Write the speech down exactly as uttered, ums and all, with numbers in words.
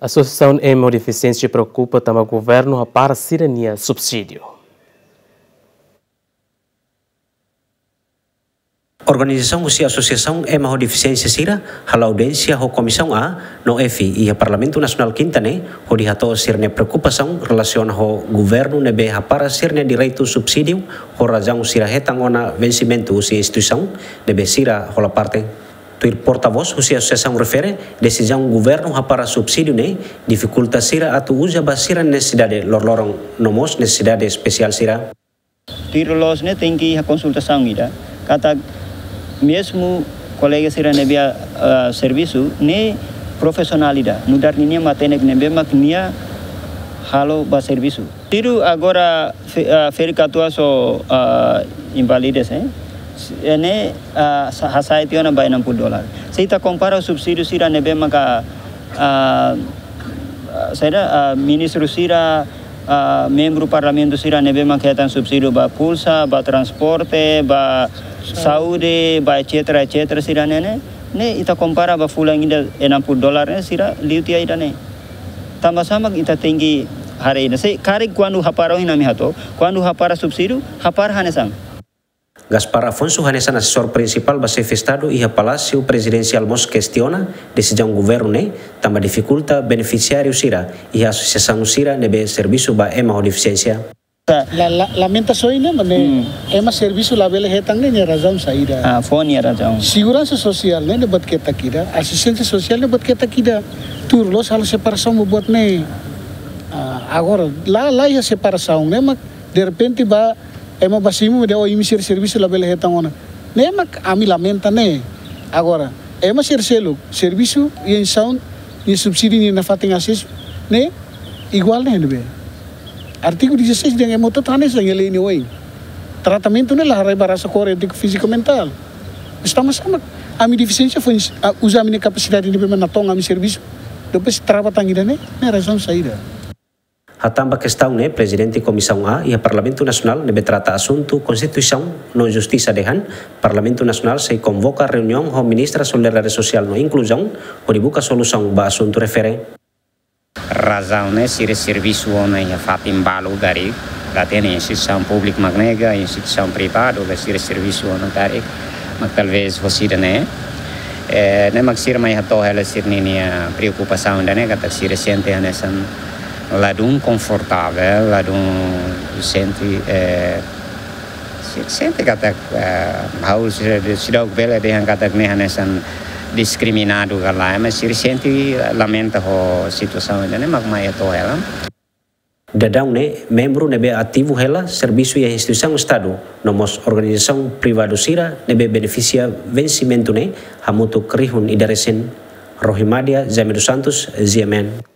Asosiasaun Ema ho Defisiénsia preokupa tanba governu hapara sira-nia subsídiu. Organizasaun husi Asosiasaun Ema ho Defisiénsia sira halo audiénsia ho Komisaun A no F iha Parlamentu Nasionál Kinta ne'e, hodi hato'o sira-nia preokupasaun relasiona ho governu ne'ebé hapara sira-nia direitu subsídiu ho razaun sira hetan ona vensimentu husi instituisaun ne'ebé sira hola parte. Tuir portavós husi asosiasaun refere, desizaun governu hapara subsídiu ne'e difikulta sira atu uza ba sira-nia nesesidade loroloron no mós nesesidade espesiál sira. Tuir loos ne'e tenke iha konsultasaun ida, katak mezmu kolega sira ne'ebé, ah, servisu ne'e profisionál ida, nu'udar ninia matenek ne'ebé mak nia halo ba servisu. Tuir agora fe-, ah, ferik katuas ho, ah, invalidez, eh? S-, eh, ne'e, ah, sa-, hasa'e tiha ona ba enam puluh dolar. Se ita kompara subsídiu sira ne'ebé maka, ah, ah, saida, ah, ministru sira, ah, membru parlamentu sira ne'ebé maka hetan subsídiu ba pulsa, ba transporte, ba saúde, ba et cetera, et cetera sira ne'e ne'e, ne'e ita kompara ba fulan ida enam puluh dolar ne'e sira liu tiha ida-ne'e. Tanba sá mak ita tenke haree ida-ne'e. Se karik kuandu hapara ohin ami hato'o, kuandu hapara subsídiu, hapara hanesan. Gaspar Afonso hanesan asesór prinsipál ba xefe Estadu iha Palásiu Prezidensiál mós kestiona desizaun governu ne'e, tanba difikulta benefisiáriu sira iha asosiasaun sira ne'ebé servisu ba ema ho defisiénsia. La, la, lamentasaun ne'e, mane, hmm, ema servisu labele hetan ne'e nia razaun saida. Ah, fó nia razaun. Seguransa sosiál ne'e, ne'e buat ketak ida, asisténsia sosiál ne'e buat ketak ida. Tuir loos halo separasaun buat ne'e. Ah, agora, la, la iha separasaun ne'e, mak derrepente ba, ema ba simu dehan, oh, imi sira servisu labele hetan ona. Ne'e mak ami lamenta ne'e. Agora, ema sira seluk servisu iha instituisaun, nia subsídiu nia nafatin asesu ne'e iguál ne'e ne'ebé. Artigu dezasseis dehan ema hotu-hotu hanesan iha lei nia oin. Tratamentu ne'e la haree ba rasa kór, étiku, fíziku, mentál. Mas tanba sá mak ami defisiénsia foin, ah, uza ami-nia kapasidade ne'ebé mak natoon ami servisu, depois trava tan ida-ne'e, ne'e razaun saida. Hatán ba kestaun ne'e, Prezidente Komisaun A iha Parlamentu Nasionál ne'ebé trata asuntu Konstituisaun no Justisa dehan, Parlamentu Nasionál sei konvoka reuniaun ho Ministra Solidariedade Sosiál no Inkluzaun hodi buka solusaun ba asuntu refere. Razaun ne'e sira servisu ona iha fatin balu karik, la hatene instituisaun públiku mak ne'e ka instituisaun privadu ka sira servisu ona karik, mak talvés hosida ne'e. Eh, ne'e mak sira mai hato'o hela sira-ninia preokupasaun ida-ne'e katak sira sente hanesan ladún konfortavel, ladún sente, eh, sira sente katak, eh, ha'u sira, seidauk bele dehan katak ne'e hanesan diskriminadu ka lae, mas sira sente lamenta ho situasaun ida-ne'e mak mai hato'o hela. Daudaun ne'e, membru ne'ebé ativu hela servisu iha instituisaun Estadu, no mós organizasaun privadu sira ne'ebé benefisia vensimentu ne'e, hamutuk rihun ida resin. Rohimadia Jaime dos Santos, G M N.